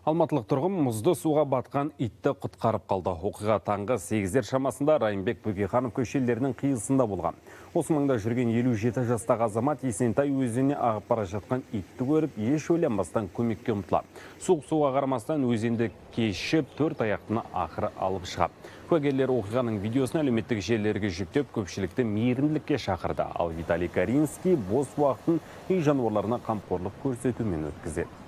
Алматылық тұрғын мұзды суға батқан итті құтқарып қалды. Оқиға таңғы 8-дер шамасында Райымбек Бөкейханов көшелерінің қиылысында болған. Осы маңда жүрген 57 жастағы азамат Есентай өзеніне ағып бара жатқан итті көріп, еш ойланбастан көмекке ұмтылады. Суға қарамастан өзенді кешіп, 4 аяқтыны ақыры алып шығады. Куәгерлер оқиғаның видеосын әлеуметтік желілерге жүктеп, көпшілікті мейірімділікке шақырды. Ал Виталий Каринский бос уақытын үй жануарларына қамқорлық көрсетумен өткізеді.